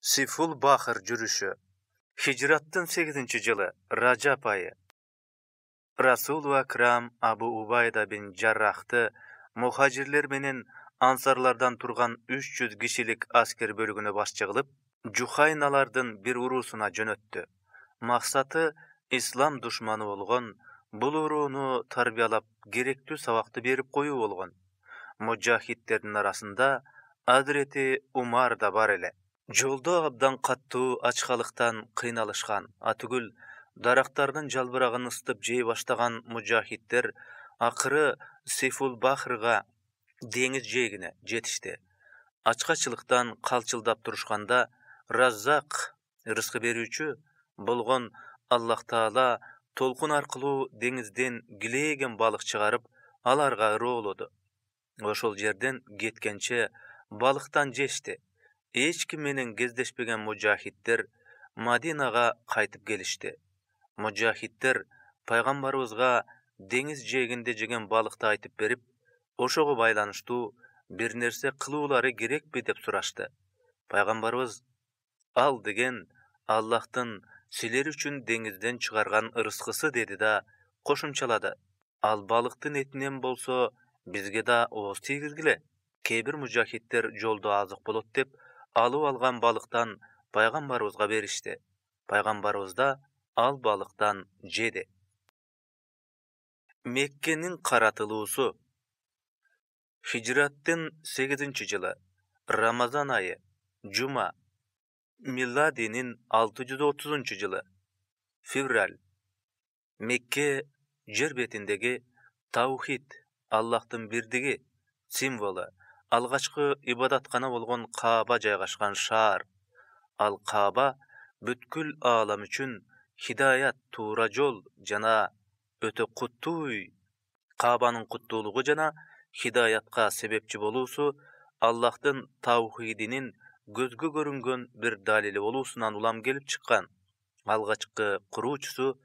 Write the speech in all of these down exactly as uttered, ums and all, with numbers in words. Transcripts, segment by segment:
Siful Bahır жүрүшү. Hicrattын сегизинчи жылы Ражап айы. Расул Акрам Абу Убайда бин Жаррахты мухажирлер менен ансарлардан турган үч жүз кишилик аскер бөлүгүнө башчы кылып, Жухайналардын бир уруусуна жөнөттү. Максаты ислам душманы болгон бул урууну тарбиялап, керектүү сабакты берип коюу болгон. Мужахидтердин арасында Азирети Умар да бар эле. Жолдо абдан каттуу ачкалыктан кыйналышкан, атүгүл дарактардын жалбырагын ыстып жей баштаган мужахиддер акыры Сифул Бахрга, деңиз жээгине жетишти. Ачкачылыктан калчылдап турушканда Раззак, рызкы берүүчү болгон Аллах Таала толкун аркылуу деңизден килейген балык чыгарып, аларга ыроолоду. Ошол жерден кеткенче балыктан жешти. Эч ким менен кездешпеген мужахиддер Мадинага кайтып келишти. Мужахиддер пайгамбарыбызга деңиз жээгинде жеген балыкты айтып берип, ошого байланыштуу бир нерсе кылуулары керекпи деп сурашты. Пайгамбарыбыз ал деген Аллахтын силер үчүн деңизден чыгарган ырыскысы деди да кошумчалады. Ал балыктын этинен болсо бизге да ооз тийгизгиле. Кээ бир мужахиддер жолдо азык болот деп алып алган балыктан пайгамбарыбызга беришти. Пайгамбарыбыз да ал балыктан жеди. Меккенин каратылуусу. Хижраттын сегизинчи жылы Рамазан айы, жума. Миладинин алты жүз отузунчу жылы февраль. Мекке жер бетиндеги таухид, Аллахтын бирдиги символу, алгачкы ибадаткана болгон Кааба жайгашкан шаар. Ал Кааба бүткүл аалам үчүн хидаят, туура жол жана өтө куттуу үй. Каабанын куттуулугу жана хидаятка себепчи болуусу Аллахтын таухидинин көзгө көрүнгөн бир далили болуусунан улам келип чыккан. Алгачкы куруучусу,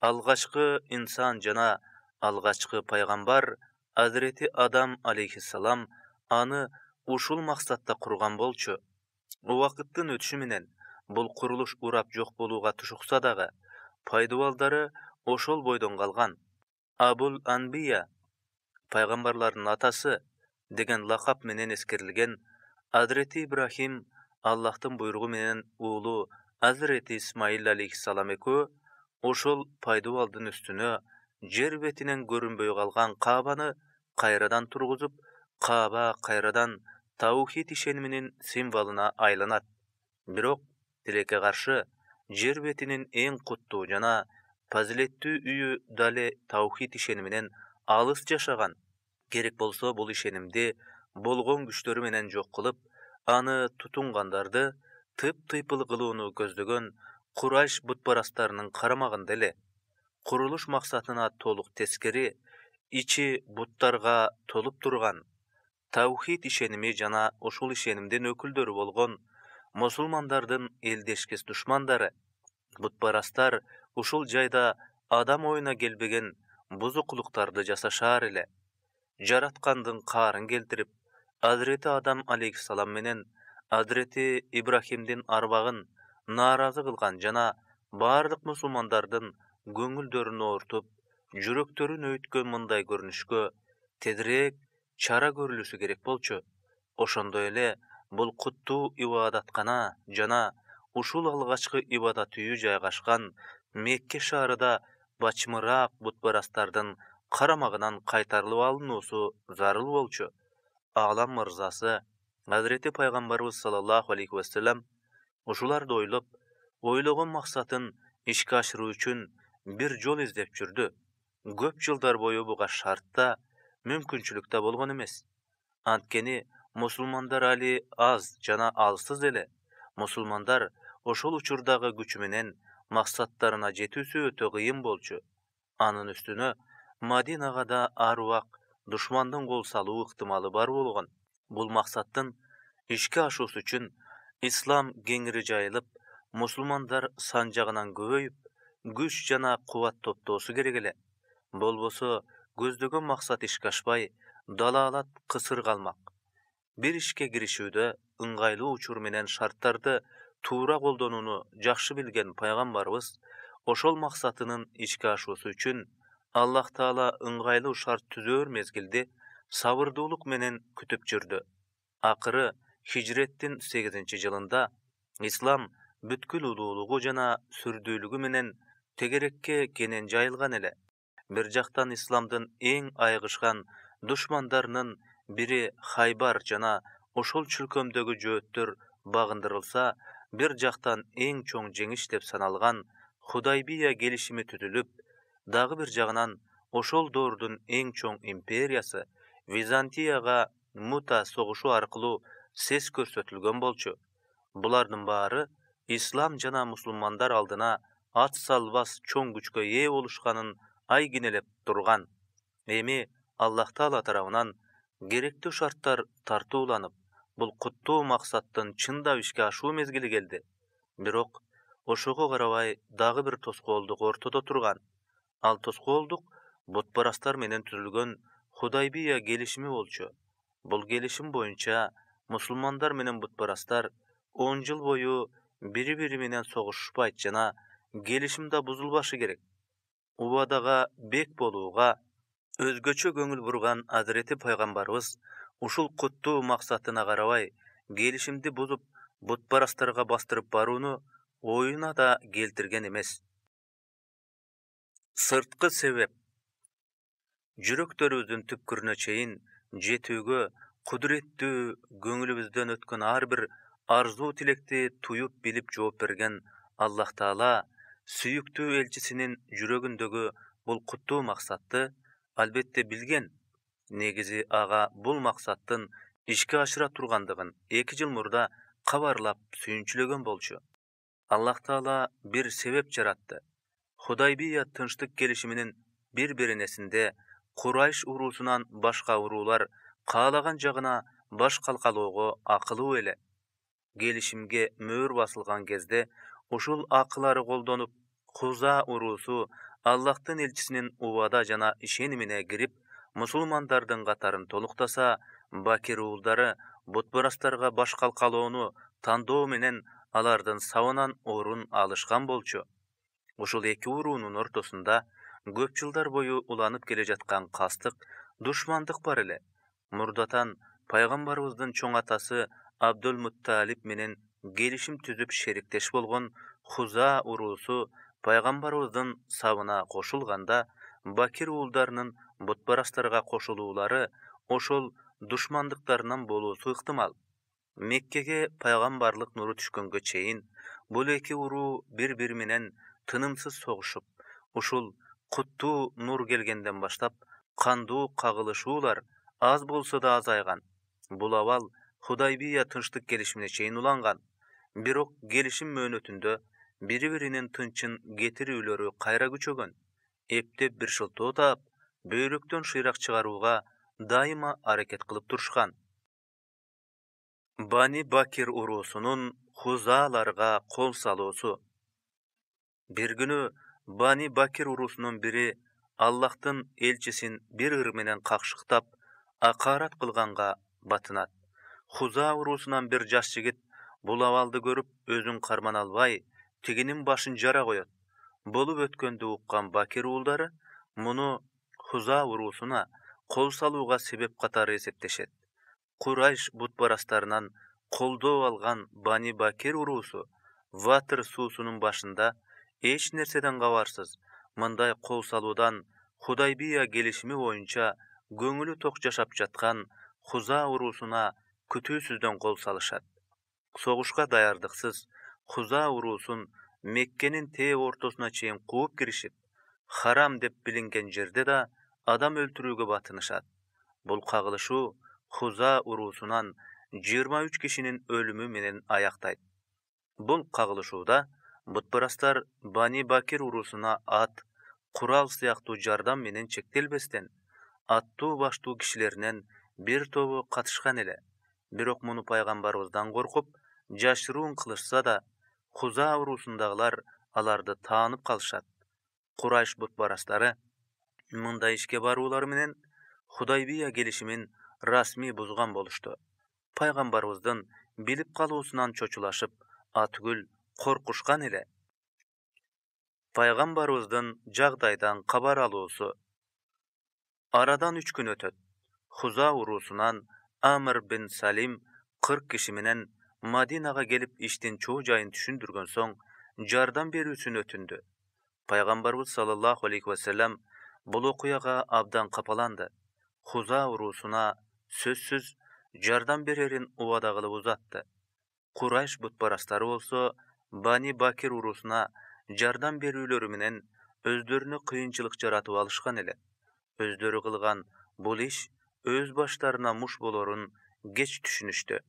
алгачкы инсан жана алгачкы пайгамбар Азирети Адам алейхиссалам аны ушул максатта курган болчу. Убакыттын өтүшү менен бул курулуш урап жок болууга тушукса дагы, пайдубалдары ошол бойдон калган. Абул Анбия, пайгамбарлардын атасы деген лакап менен эскерилген Азирети Ибрахим Аллахтын буйругу менен уулу Азирети Исмаил алейхиссалам экөө ошол пайдубалдын үстүнө жер бетинен көрүнбөй калган Каабаны кайрадан тургузуп, Кааба кайрадан таухид ишениминин символуна айланат. Бирок тилекке каршы жер бетинин эң куттуу жана фазилеттүү үйү дале таухид ишениминен алыс жашаган. Керек болсо бул ишенимди болгон күчтөрү менен жок кылып, аны тутунгандарды тып-тыйпыл кылууну көздөгөн Курайш бутпарастарынын карамагында эле. Курулуш максатына толук тескери, ичи буттарга толуп турган. Таухид ишеними жана ушул ишенимдин өкүлдөрү болгон мусулмандардын элдешкис душмандары, бутпарастар ушул жайда адам оюна келбеген бузукулуктарды жасашаар эле. Жараткандын каарын келтирип, Азирети Адам алейхиссалам менен Азирети Ибрахимдин арбагын нааразы кылган жана бардык мусулмандардын көңүлдөрүн оорутуп, жүрөктөрүн өйткөн мындай көрүнүшкө тезирээк чара көрүлүшү керек болчу. Ошондой эле бул куттуу ибадаткана жана ушул алгачкы ибадат үйү жайгашкан Мекке шаарында бачымыраак бутпарастардын карамагынан кайтарылып алынуусу зарыл болчу. Аалам мырзасы Азирети пайгамбарыбыз саллаллаху алейхи вассалам ушуларды ойлоп, ойлогон максатын ишке ашыруу үчүн бир жол издеп жүрдү. Көп жылдар бою буга шарт да, мүмкүнчүлүк да болгон эмес. Анткени мусулмандар али аз жана алсыз эле. Мусулмандар ошол учурдагы күчү менен максаттарына жетүүсү өтө кыйын болчу. Анын үстүнө Мадинага да ар убак душмандын кол салуу ыктымалы бар болгон. Бул максаттын ишке ашуусу үчүн ислам кеңири жайылып, мусулмандар сан жагынан көбөйүп, күч жана кубат топтоосу керек эле. Болбосо көздөгөн максат ишке ашпай, далаалат кысыр калмак. Бир ишке киришүүдө ыңгайлуу учур менен шарттарды туура колдонууну жакшы билген пайгамбарыбыз ошол максатынын ишке ашуусу үчүн Аллах Таала ыңгайлуу шарт түзөр мезгилди сабырдуулук менен күтүп жүрдү. Акыры хижреттин сегизинчи жылында ислам бүткүл улуулугу жана сүрдүүлүгү менен тегерекке кенен жайылган эле. Бир жактан исламдын эң айгышкан душмандарынын бири Хайбар жана ошол чөлкөмдөгү жөөттөр багындырылса, бир жактан эң чоң жеңиш деп саналган Худайбия келишими түзүлүп, дагы бир жагынан ошол доордун эң чоң империясы Византияга Мута согушу аркылуу сес көрсөтүлгөн болчу. Булардын баары ислам жана мусулмандар алдына ат салбас чоң күчкө ээ болушканын айгинелеп турган. Эми Аллах Таала тарабынан керектүү шарттар тартууланып, бул куттуу максаттын чындап ишке ашуу мезгили келди. Бирок ошого карабай дагы бир тоскоолдук ортодо турган. Ал тоскоолдук бутпарастар менен түзүлгөн Худайбия келишими болчу. Бул келишим боюнча мусулмандар менен бутпарастар он жыл бою бири-бири менен согушушпайт жана келишим да бузулбашы керек. Убадага бек болууга өзгөчө көңүл бурган Азирети пайгамбарыбыз ушул куттуу максатына карабай келишимди бузуп, бутпарастарга бастырып барууну оюна да келтирген эмес. Сырткы себеп. Жүрөктөрүбүздүн түпкүрүнө чейин жетүүгө кудуреттүү, көңүлүбүздөн өткөн ар бир арзуу тилекти туюп билип жооп берген Аллах Таала сүйүктүү элчисинин жүрөгүндөгү бул куттуу максатты албетте билген. Негизи ага бул максаттын ишке ашыра тургандыгын эки жыл мурда кабарлап сүйүнчүлөгөн болчу. Аллах Таала бир себеп жаратты. Худайбия тынчтык келишиминин бир беренесинде Курайш уруусунан башка уруулар каалаган жагына баш калкалоого акылуу эле. Келишимге мөөр басылган кезде ушул акылары колдонуп, Хуза уруусу Аллахтын элчисинин убада жана ишенимине кирип, мусулмандардын катарын толуктаса, Бакир уулдары бутпарастарга баш калкалоону тандоо менен алардын сабынан орун алышкан болчу. Ушул эки уруунун ортосунда көп жылдар бою уланып келе жаткан кастык, душмандык бар эле. Мурдатан пайгамбарыбыздын чоң атасы Абдул-Мутталиб менен келишим түзүп шериктеш болгон Хуза уруусу пайгамбарыбыздын сабына кошулганда, Бакир уулдарынын бутпарастарга кошулуулары ошол душмандыктарынан болуусу ыктымал. Меккеге пайгамбарлык нуру түшкөнгө чейин бул эки уруу бири-бири менен тынымсыз согушуп, ушул куттуу нур келгенден баштап кандуу кагылышуулар аз болсо да азайган. Бул абал Худайбия тынчтык келишимине чейин уланган. Бирок келишим мөөнөтүндө бири-биринин тынчын кетирүүлөрү кайра күчөгөн. Эптеп бир шылтоо таап, бөйрөктөн шыйрак чыгарууга дайыма аракет кылып турушкан. Бани Бакир уруусунун Хузааларга кол салуусу. Бир күнү Бани Бакир уруусунун бири Аллахтын элчисин бир ыр менен какшыктап, акарат кылганга батынат. Хуза уруусунан бир жаш жигит бул абалды көрүп, өзүн кармана албай, тигинин башын жара коет. Болуп өткөндү уккан Бакир уулдары муну Хуза уруусуна кол салууга себеп катары эсептешет. Курайш бутпарастарынан колдоо алган Бани Бакир уруусу Ватыр суусунун башында эч нерседен кабарсыз мындай кол салуудан Худайбия келишими боюнча көңүлү ток жашап жаткан Хуза уруусуна күтүүсүздөн кол салышат. Согушка даярдыксыз Хуза уруусун Меккенин тээ ортосуна чейин кууп киришип, харам деп билинген жерде да адам өлтүрүүгө батынышат. Бул кагылышуу Хуза уруусунан жыйырма үч кишинин өлүмү менен аяктайт. Бул кагылышууда бутпарастар Бани Бакир уруусуна ат, курал сыяктуу жардам менен чектелбестен, аттуу баштуу кишилеринен бир тобу катышкан эле. Бирок муну пайгамбарыбыздан коркуп, жашыруун кылышса да, Хуза уруусундагылар аларды таанып калышат. Курайш бутпарастары мындай ишке баруулары менен Худайбия келишимин расмий бузган болушту. Пайгамбарыбыздын билип калуусунан чочулашып, атүгүл коркушкан эле. Пайгамбарыбыздын жагдайдан кабар алуусу. Арадан үч күн өтөт. Хуза уруусунан Амр бин Салим кырк киши менен Мадинага келип иштин чоо жайын түшүндүргөн соң жардам берүүсүн өтүндү. Пайгамбарыбыз саллаллаху алейхи вассалам бул окуяга абдан капаланды. Хуза уруусуна сөзсүз жардам берерин убада кылып узатты. Курайш бутпарастары болсо Бани Бакир уруусуна жардам берүүлөрү менен өздөрүнө кыйынчылык жаратып алышкан эле. Өздөрү кылган бул иш өз баштарына муш болорун кеч түшүнүштү.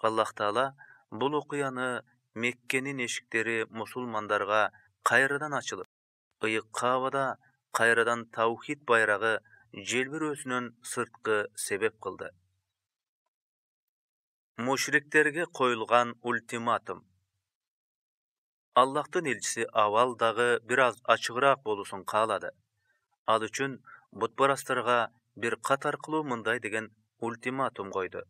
Аллах Таала бул окуяны Меккенин эшиктери мусулмандарга кайрадан ачылып, ыйык Каабада кайрадан таухид байрагы желбирөөсүнөн сырткы себеп кылды. Мушриктерге коюлган ультиматум. Аллахтын элчиси абал дагы бир аз ачыгыраак болуусун каалады. Ал үчүн бутпарастарга бир кат аркылуу мындай деген ультиматум койду.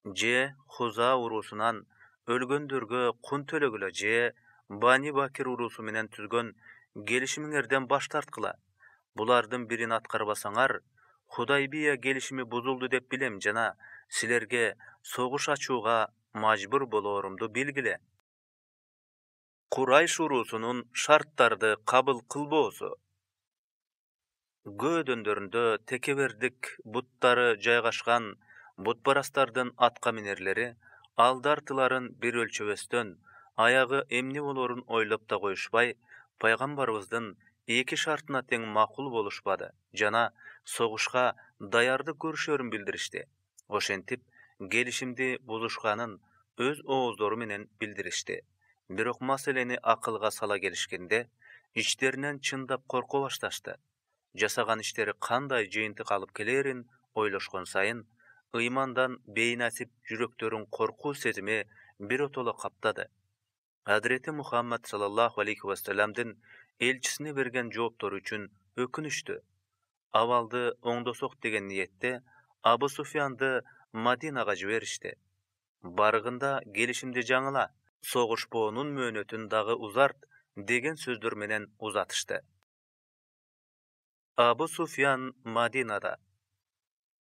Же Хуза уруусунан өлгөндөргө кун төлөгүлө, же Бани Бакир уруусу менен түзгөн келишимиңерден баш тарткыла. Булардын бирин аткарбасаңар, Худайбия келишими бузулду деп билем жана силерге согуш ачууга мажбур болоорумду билгиле. Курайш уруусунун шарттарды кабыл кылбоосу. Көөдөндөрүндө текебердик буттары жайгашкан бутпарастардын атка минерлери алды-артыларын бир өлчөбөстөн, аягы эмне болоорун ойлоп да коюшпай, пайгамбарыбыздын эки шартына тең макул болушпады жана согушка даярдык көрүшөрүн билдиришти. Ошентип, келишимди бузушканын өз ооздору менен билдиришти. Бирок маселени акылга сала келишкенде, ичтеринен чындап корко башташты. Жасаган иштери кандай жыйынтык алып келерин ойлошкон сайын, ыймандан бейнасип жүрөктөрүн коркуу сезими биротоло каптады. Хазирети Мухаммад саллаллаху алейхи вассаламдын элчисине берген жооптору үчүн өкүнүштү. Абалды оңдосок деген ниетте Абу Суфьянды Мадинага жиберишти. Барыгында келишимди жаңыла, согушпоонун мөөнөтүн дагы узарт деген сөздөр менен узатышты. Абу Суфьян Мадинада.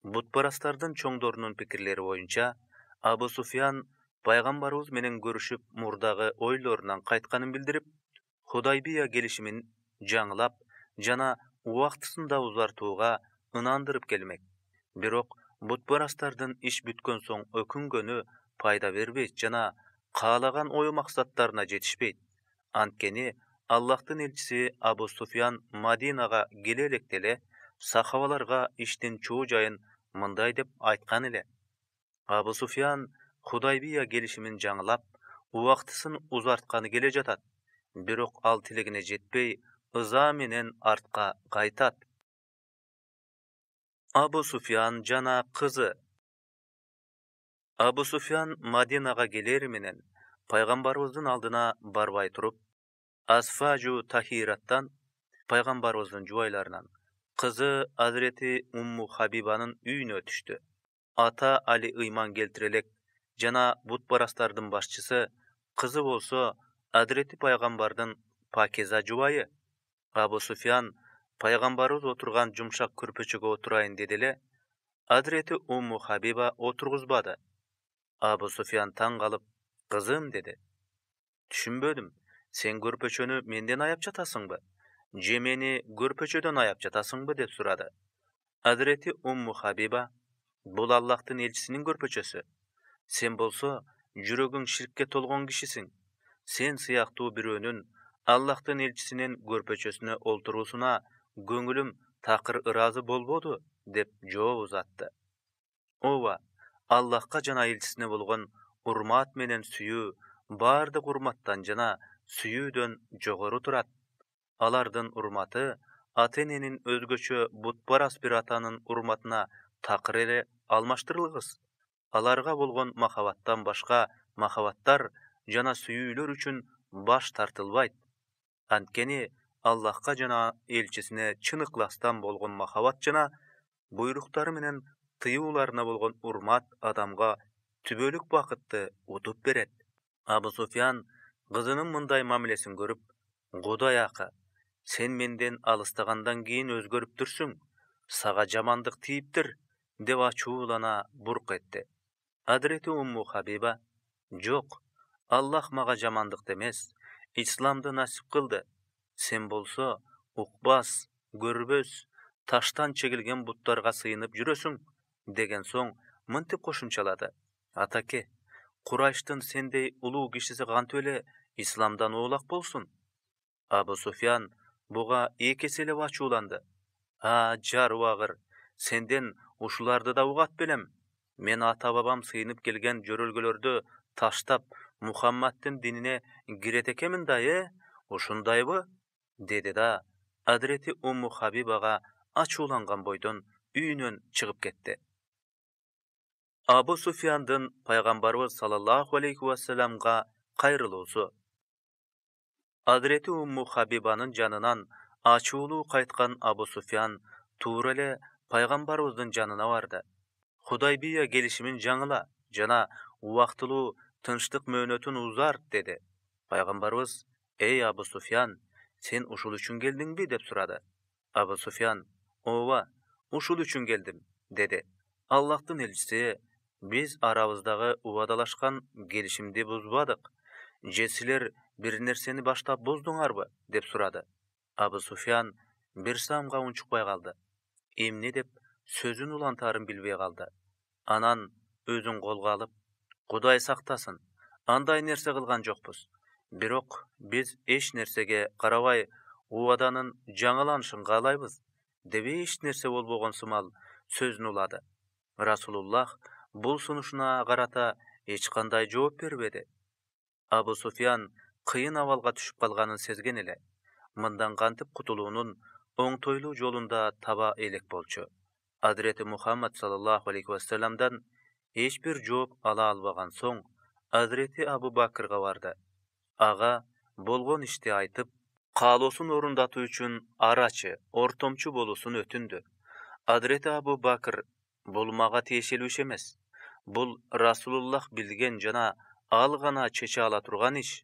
Бутпарастардын чоңдорунун пикирлери боюнча, Абу Суфьян пайгамбарыбыз менен көрүшүп мурдагы ойлорунан кайтканын билдирип, Худайбия келишимин жаңылап жана убактысында узартууга ынандырып келмек. Бирок бутпарастардын иш бүткөн соң өкүнгөнү пайда бербейт жана каалаган ой максаттарына жетишпейт. Анткени Аллахтын элчиси Абу Суфьян Мадинага келе электе эле сахабаларга иштин чоо жайын мындай деп айткан эле. Абу Суфьян Худайбия келишимин жаңылап, убактысын узартканы келе жатат. Бирок ал тилегине жетпей, ыза менен артка кайтат. Абу Суфьян жана кызы. Абу Суфьян Мадинага келери менен пайгамбарыбыздын алдына барбай туруп, Асфажу Тахираттан, пайгамбарыбыздын жубайларынан, кызы Азирети Умму Хабибанын үйүнө түштү. Ата Али ыйман келтире элек жана бутпарастардын башчысы, кызы болсо Азирети пайгамбардын пакиза жубайы. Абу Суфьян пайгамбарыбыз отурган жумшак көрпөчөгө отурайын деди эле, Азирети Умму Хабиба отургузбады. Абу Суфьян таң калып, кызым деди. Түшүнбөдүм, сен көрпөчөнү менден аяп жатасыңбы? Же мени көрпөчөдөн аяп жатасыңбы деп сурады. Азирети Умму Хабиба, бул Аллахтын элчисинин көрпөчөсү. Сен болсо жүрөгүң ширкке толгон кишисиң. Сен сыяктуу бирөөнүн Аллахтын элчисинин көрпөчөсүнө олтуруусуна көңүлүм такыр ыраазы болбоду деп жооп узатты. Ооба, Аллахка жана элчисине болгон урмат менен сүйүү баардык урматтан жана сүйүүдөн жогору турат. Алардын урматы ата-эненин өзгөчө бутпарас бир атанын урматына такыр эле алмаштырылгыс. Аларга болгон махабаттан башка махабаттар жана сүйүүлөр үчүн баш тартылбайт. Анткени Аллахка жана элчисине чын ыкластан болгон махабат жана буйруктары менен тыюуларына болгон урмат адамга түбөлүк бакытты утуп берет. Абу Суфьян Кызынын мындай мамилесин көрүп, Кудай акы, сен менден алыстагандан кийин өзгөрүптүрсүң, сага жамандык тийиптир, деп ачуулана бурк этти. Адрети Умму Хабиба, жок, Аллах мага жамандык эмес, исламды насип кылды. Сен болсо укпас, көрбөс, таштан чегилген буттарга сыйынып жүрөсүң, деген соң мынтип кошумчалады. Атаке, Курайштын сендей улуу кишиси кантип эле исламдан оолак болсун? Абу Суфьян буга эки эселеп ачууланды. А, жарыбагыр, сенден ушуларды да угат белем. Мен ата-бабам сыйынып келген жөрөлгөлөрдү таштап, Мухаммадтын динине кирет экемин да, э? Ушундайбы? Деди да, Адрети Умму Хабибага ачууланган бойдон үйүнөн чыгып кетти. Абу Суфьяндын пайгамбарыбыз саллаллаху алейхи вассаламга кайрылуусу. Адрети Умму Хабибанын жанынан ачуулуу кайткан Абу Суфьян туура эле пайгамбарыбыздын жанына барды. Худайбия келишимин жаңыла жана убактылуу тынчтык мөөнөтүн узарт, деди. Пайгамбарыбыз: "Эй Абу Суфьян, сен ушул үчүн келдиңби?" деп сурады. Абу Суфьян: "Ооба, ушул үчүн келдим", деди. Аллахтын элчиси: "Биз арабыздагы убадалашкан келишимди бузбадык. Же силер бир нерсени баштап буздуңарбы?" деп сурады. Абу Суфьян бир самга унчукпай калды. Эмне деп сөзүн улантаарын билбей калды. Анан өзүн колго алып: "Кудай сактасын, андай нерсе кылган жокпуз. Бирок биз эч нерсеге карабай убаданын жаңыланышын каалайбыз", деп эч нерсе болбогон сымал сөзүн улады. Расулуллах бул сунушуна карата эч кандай жооп бербеди. Абу Суфьян кыйын абалга түшүп калганын сезген эле. Мындан кантип кутулуунун оңтойлуу жолун да таба элек болчу. Адрети Мухаммад саллаллаху алейхи вассаламдан эч бир жооп ала албаган соң, Адрети Абу Бакрга барды. Ага болгон ишти айтып, каалоосун орундатуу үчүн арачы, ортомчу болуусун өтүндү. Адрети Абу Бакр: "Бул мага тиешелүү иш эмес. Бул Расулуллах билген жана ал гана чече ала турган иш.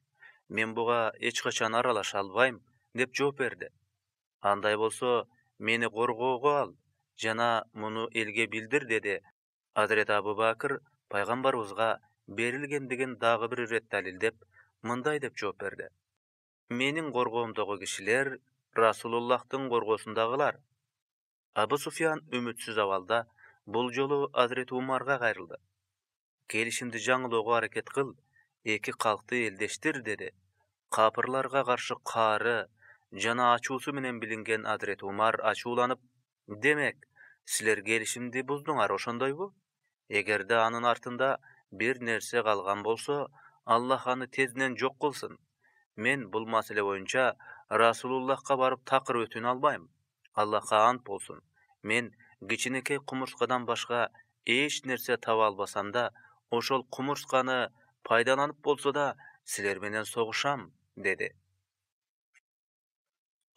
Мен буга эч качан аралаша албайм", деп жооп берди. "Андай болсо, мени коргоого ал жана муну элге билдир", деди. Адрети Абу Бакр пайгамбарыбызга берилгендигин дагы бир ирет далилдеп, мындай деп жооп берди: "Менин коргоомдогу кишилер Расулуллахтын коргоосундагылар". Абу Суфьян үмүтсүз абалда бул жолу Адрети Умарга кайрылды. "Келишимди жаңылоого аракет кыл, эки калкты элдештир", деди. Капырларга каршы каары жана ачуусу менен билинген Адрети Умар ачууланып: "Демек, силер келишимди буздуңар, ошондойбу? Эгерде анын артында бир нерсе калган болсо, Аллах аны тезинен жок кылсын. Мен бул маселе боюнча Расулуллахка барып такыр өтүнө албайм. Аллахка ант болсун, мен кичинекей кумурскадан башка эч нерсе таба албасам да, ошол кумурсканы пайдаланып болсо да силер менен согушам", деди.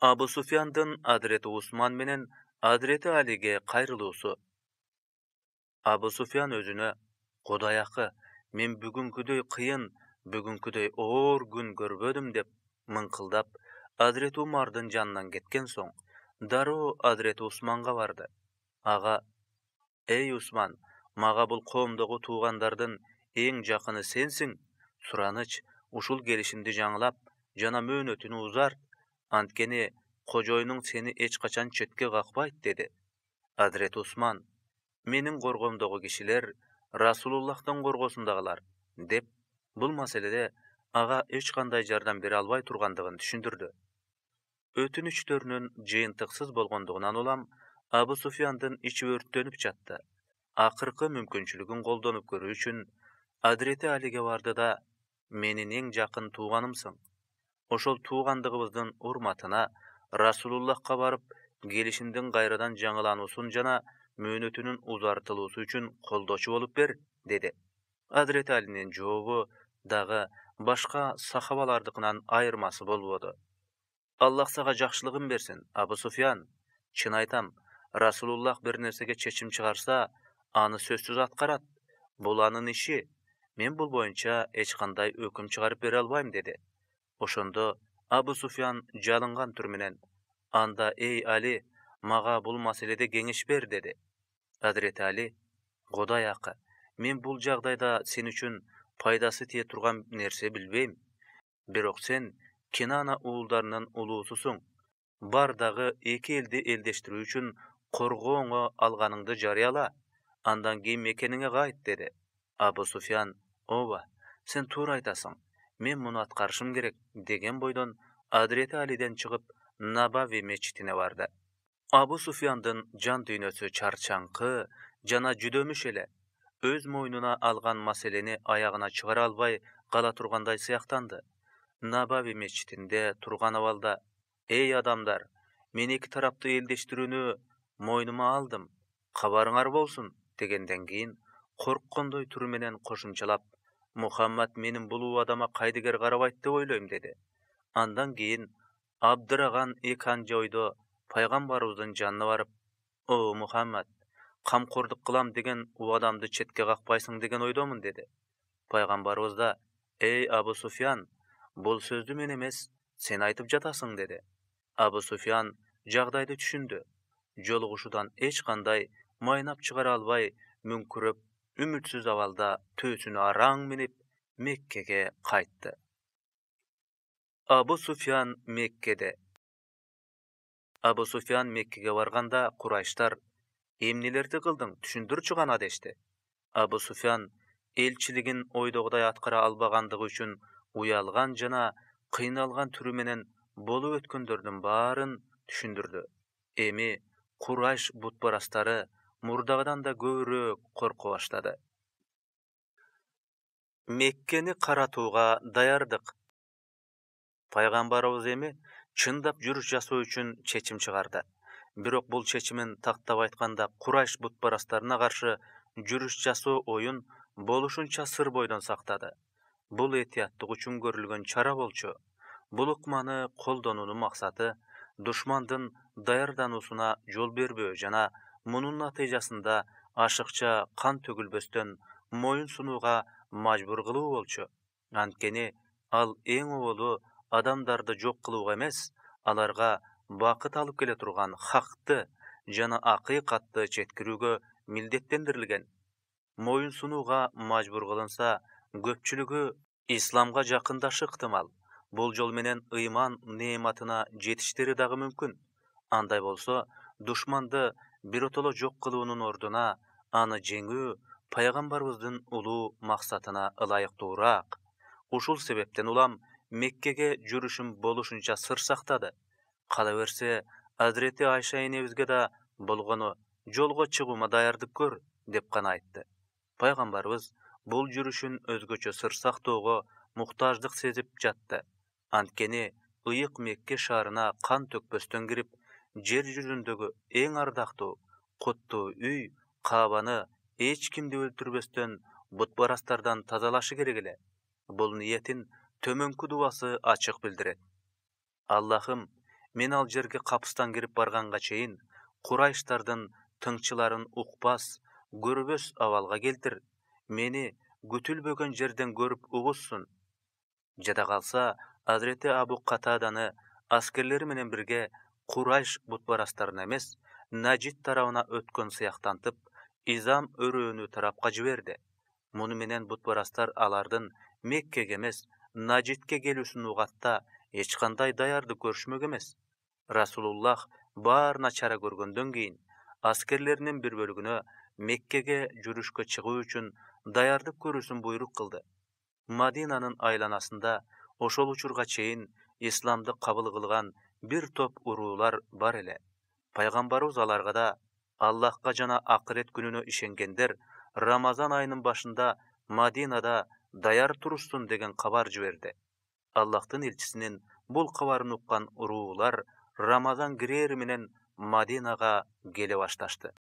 Абу Суфьяндын Адрети Усман менен Адрети Алиге кайрылуусу. Абу Суфьян өзүнө: "Кудай акы, мен бүгүнкүдөй кыйын, бүгүнкүдөй оор күн көрбөдүм", деп мыңкылдап Адрети Умардын жанынан кеткен соң, дароо Адрети Усманга барды. Ага: "Эй Усман, мага бул коомдогу туугандардын эң жакыны сенсиң. Сураныч, ушул келишимди жаңылап жана мөөнөтүн узарт, анткени кожоюнуң сени эч качан четке какпайт", деди. Адрети Усман: "Менин коргоомдогу кишилер Расулуллахтын коргоосундагылар", деп бул маселеде ага эч кандай жардам бере албай тургандыгын түшүндүрдү. Өтүнүчтөрүнүн жыйынтыксыз болгондугунан улам Абу Суфьяндын ичи өрттөнүп жатты. Акыркы мүмкүнчүлүгүн колдонуп көрүү үчүн Адрети Алиге барды да: "Менин эң жакын тууганымсың. Ошол туугандыгыбыздын урматына Расулуллахка барып, келишимдин кайрадан жаңылануусун жана мөөнөтүнүн узартылуусу үчүн колдоочу болуп бер", деди. Адрети Алинин жообу дагы башка сахабалардыкынан айырмасы болбоду. "Аллах сага жакшылыгын берсин, Абу Суфьян. Чын айтам, Расулуллах бир нерсеге чечим чыгарса, аны сөзсүз аткарат. Бул анын иши. Мен бул боюнча эч кандай өкүм чыгарып бере албайм", деди. Ошондо Абу Суфян жалынган түр менен: "Анда эй Али, мага бул маселеде кеңеш бер" деди. Азирети Али: "Кудай акы, мен бул жагдайда сен үчүн пайдасы тие турган нерсе билбейм. Бирок сен Кинана уулдарынын улуусусуң. Бар дагы эки элди элдештирүү үчүн коргооңо алганыңды жарыяла. Андан кийин мекениңе кайт" деди. Абу Суфян: "Ооба, сен туура айтасың. Мен муну аткарышым керек" деген бойдон Азирети Алиден чыгып, Набави мечитине барды. Абу Суфяндын жан дүйнөсү чарчаңкы жана жүдөмүш эле. Өз мойнуна алган маселени аягына чыгара албай кала тургандай сыяктанды. Набави мечитинде турган абалда: "Эй адамдар, мен эки тараптуу элдештирүүнү мойнума алдым. Кабарыңар болсун" дегенден кийин корккондой түр менен кошумчалап: "Мухаммад менин бул убадама кайдыгер карабайт деп ойлойм" деди. Андан кийин абдыраган эки анча ойдо пайгамбарыбыздын жанына барып: "О Мухаммад, камкордук кылам деген убадамды четке какпайсың деген ойдомун" деди. Пайгамбарыбыз да: "Эй Абу Суфян, бул сөздү мен эмес, сен айтып жатасың" деди. Абу Суфян жагдайды түшүндү. Жолугушуудан эч кандай майнап чыгара албай, мүңкүрөп, үмүтсүз абалда төөсүнө араң минип, Меккеге кайтты. Абу Суфян Меккеде. Абу Суфян Меккеге барганда Курайштар: "Эмнелерди кылдың, түшүндүрчү гана" дешти. Абу Суфян элчилигин ойдогудай аткара албагандыгы үчүн уялган жана кыйналган түрү менен болуп өткөндөрдүн баарын түшүндүрдү. Эми Курайш бутпарастары мурдагыдан да көбүрөөк корко баштады. Меккени каратууга даярдык. Пайгамбарыбыз эми чындап жүрүш жасоо үчүн чечим чыгарды. Бирок бул чечимин тактап айтканда Курайш бутпарастарына каршы жүрүш жасоо оюн болушунча сыр бойдон сактады. Бул этияттык үчүн көрүлгөн чара болчу. Бул ыкманы колдонуунун максаты душмандын даярдануусуна жол бербөө жана мунун натыйжасында ашыкча кан төгүлбөстөн моюн сунууга мажбур кылуу болчу. Анткени ал эң оболу адамдарды жок кылууга эмес, аларга бакыт алып келе турган хакты жана акыйкатты жеткирүүгө милдеттендирилген. Моюн сунууга мажбур кылынса, көпчүлүгү исламга жакындашы ыктымал. Бул жол менен ыйман неаматына жетиштери дагы мүмкүн. Андай болсо, душманды биротоло жок кылуунун ордуна аны жеңүү пайгамбарыбыздын улуу максатына ылайыктуураак. Ушул себептен улам Меккеге жүрүшүн болушунча сыр сактады. Кала берсе, Азирети Айша энебизге да болгону "Жолго чыгуума даярдык көр" деп гана айтты. Пайгамбарыбыз бул жүрүшүн өзгөчө сыр сактоого муктаждык сезип жатты. Анткени ыйык Мекке шаарына кан төкпөстөн кирип, жер жүзүндөгү эң ардактуу, куттуу үй Каабаны эч кимди өлтүрбөстөн бутпарастардан тазалашы керек эле. Бул ниетин төмөнкү дубасы ачык билдирет: "Аллахым, мен ал жерге капыстан кирип барганга чейин Курайштардын тыңчыларын укпас, көрбөс абалга келтир. Мени күтүлбөгөн жерден көрүп угушсун". Жада калса, Азирети Абу Катаданы аскерлери менен бирге Курайш бутпарастарына эмес, Нажид тарабына өткөн сыяктантып, Изам өрөөнү тарапка жиберди. Муну менен бутпарастар алардын Меккеге эмес, Нажидке келүүсүн угатта эч кандай даярдык көрүшмөк эмес. Расулуллах баарына чара көргөндөн кийин аскерлеринин бир бөлүгүнө Меккеге жүрүшкө чыгуу үчүн даярдык көрүүсүн буйрук кылды. Мадинанын айланасында ошол учурга чейин исламды кабыл кылган бир топ уруулар бар эле. Пайгамбарыбыз аларга да Аллахка жана акырет күнүнө ишенгендер Рамазан айынын башында Мадинада даяр турушсун деген кабар жиберди. Аллахтын элчисинин бул кабарын уккан уруулар Рамазан кирери менен Мадинага келе башташты.